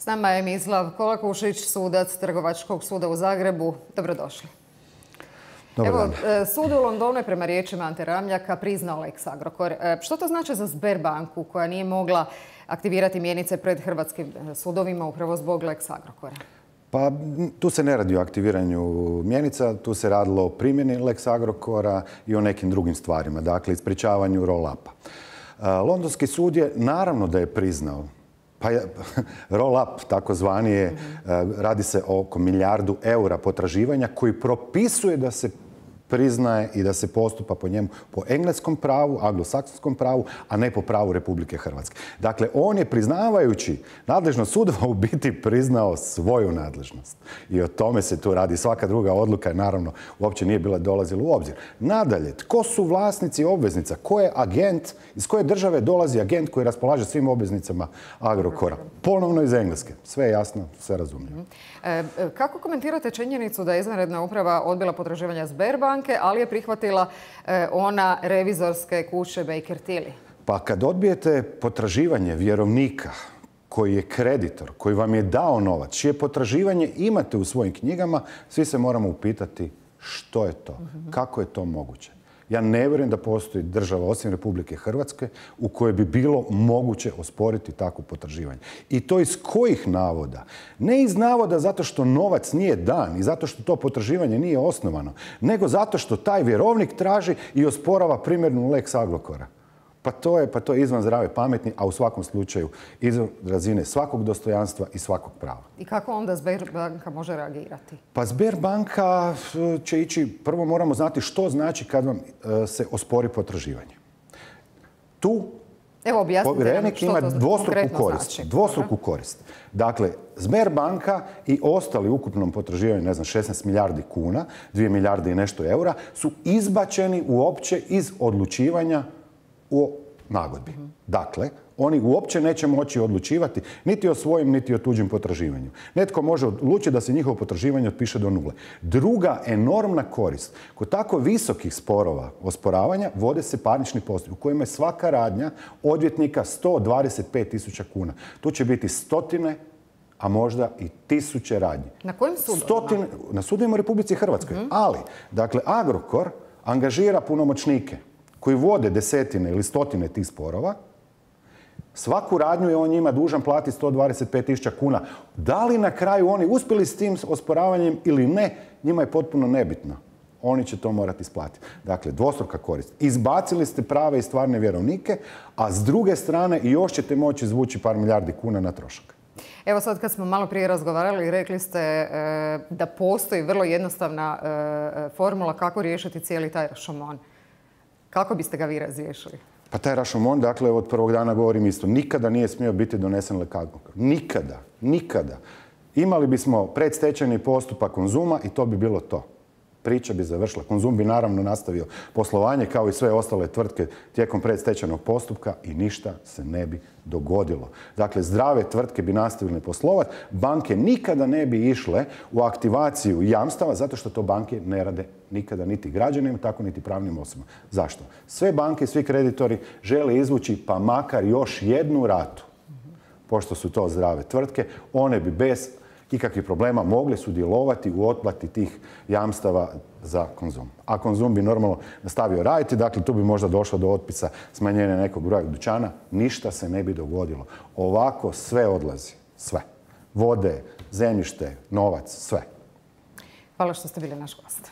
S nama je Mislav Kolakušić, sudac Trgovačkog suda u Zagrebu. Dobrodošli. Evo, sud u Londonu je prema riječima Ante Ramljaka priznao Lex Agrokor. Što to znači za Sberbanku koja nije mogla aktivirati mjenice pred hrvatskim sudovima upravo zbog Lex Agrokora? Pa tu se ne radi o aktiviranju mjenica, tu se radilo o primjeni Lex Agrokora i o nekim drugim stvarima, dakle ispričavanju roll-upa. Londonski sud je naravno da je priznao, pa roll-up takozvani je, radi se oko milijardu eura potraživanja koji propisuje da se priznaje i da se postupa po njemu po engleskom pravu, anglosaksonskom pravu, a ne po pravu Republike Hrvatske. Dakle, on je priznavajući nadležnost sudova u biti priznao svoju nadležnost. I o tome se tu radi. Svaka druga odluka naravno uopće nije bila dolazila u obzir. Nadalje, tko su vlasnici obveznica? Ko je agent? Iz koje države dolazi agent koji raspolaže svim obveznicama Agrokora? Ponovno iz Engleske. Sve je jasno, sve razumljivo. Kako komentirate činjenicu da je izvanredna uprava odbila potraživanja Sberbanke, ali je prihvatila ona revizorske kuće Baker Tilly? Pa kad odbijete potraživanje vjerovnika koji je kreditor, koji vam je dao novac, čije potraživanje imate u svojim knjigama, svi se moramo upitati što je to, kako je to moguće. Ja ne vjerujem da postoji država osim Republike Hrvatske u kojoj bi bilo moguće osporiti takvo potraživanje. I to iz kojih navoda? Ne iz navoda zato što novac nije dan i zato što to potraživanje nije osnovano, nego zato što taj vjerovnik traži i osporava primjenu Lex Agrokora. Pa to je izvan zdrave pameti, a u svakom slučaju izvan razine svakog dostojanstva i svakog prava. I kako onda Sberbanka može reagirati? Pa Sberbanka će ići, prvo moramo znati što znači kad vam se ospori potraživanje. Tu povjerenik ima dvostruku korist. Dakle, Sberbanka i ostali u ukupnom potraživanju, 16 milijardi kuna, 2 milijarde i nešto eura, su izbačeni uopće iz odlučivanja o nagodbi. Dakle, oni uopće neće moći odlučivati niti o svojim, niti o tuđim potraživanju. Netko može odlučiti da se njihovo potraživanje otpiše do nule. Druga enormna korist. Kod tako visokih sporova osporavanja vode se parnični postupci u kojima je svaka radnja odvjetnika 125.000 kuna. Tu će biti stotine, a možda i tisuće radnji. Na kojim sudovima? Na sudovima u Republici Hrvatskoj. Ali, dakle, Agrokor angažira punomoćnike koji vode desetine ili stotine tih sporova. Svaku radnju je on njima dužan platiti 125.000 kuna. Da li na kraju oni uspjeli s tim osporavanjem ili ne, njima je potpuno nebitno. Oni će to morati isplatiti. Dakle, dvostruka korist. Izbacili ste prave i stvarne vjerovnike, a s druge strane još ćete moći izvući par milijardi kuna na trošak. Evo sad kad smo malo prije razgovarali, rekli ste da postoji vrlo jednostavna formula kako riješiti cijeli taj rašomon. Kako biste ga vi razriješili? Pa taj rašomon, dakle, od prvog dana govorim isto. Nikada nije smio biti donesen Lex Agrokor. Nikada. Nikada. Imali bismo predstečajni postupak Konzuma i to bi bilo to. Priča bi završila. Konzum bi naravno nastavio poslovanje kao i sve ostale tvrtke tijekom predstečajnog postupka i ništa se ne bi dogodilo. Dakle, zdrave tvrtke bi nastavile poslovati, banke nikada ne bi išle u aktivaciju jamstava zato što to banke ne rade nikada niti građanima, tako niti pravnim osobama. Zašto? Sve banke, svi kreditori žele izvući pa makar još jednu ratu. Pošto su to zdrave tvrtke, one bi bez ikakvih problema mogli sudjelovati u otplati tih jamstava za Konzum. A Konzum bi normalno nastavio raditi, dakle tu bi možda došlo do otpisa smanjenja nekog broja dućana, ništa se ne bi dogodilo. Ovako sve odlazi, sve. Vode, zemljište, novac, sve. Hvala što ste bili naš gost.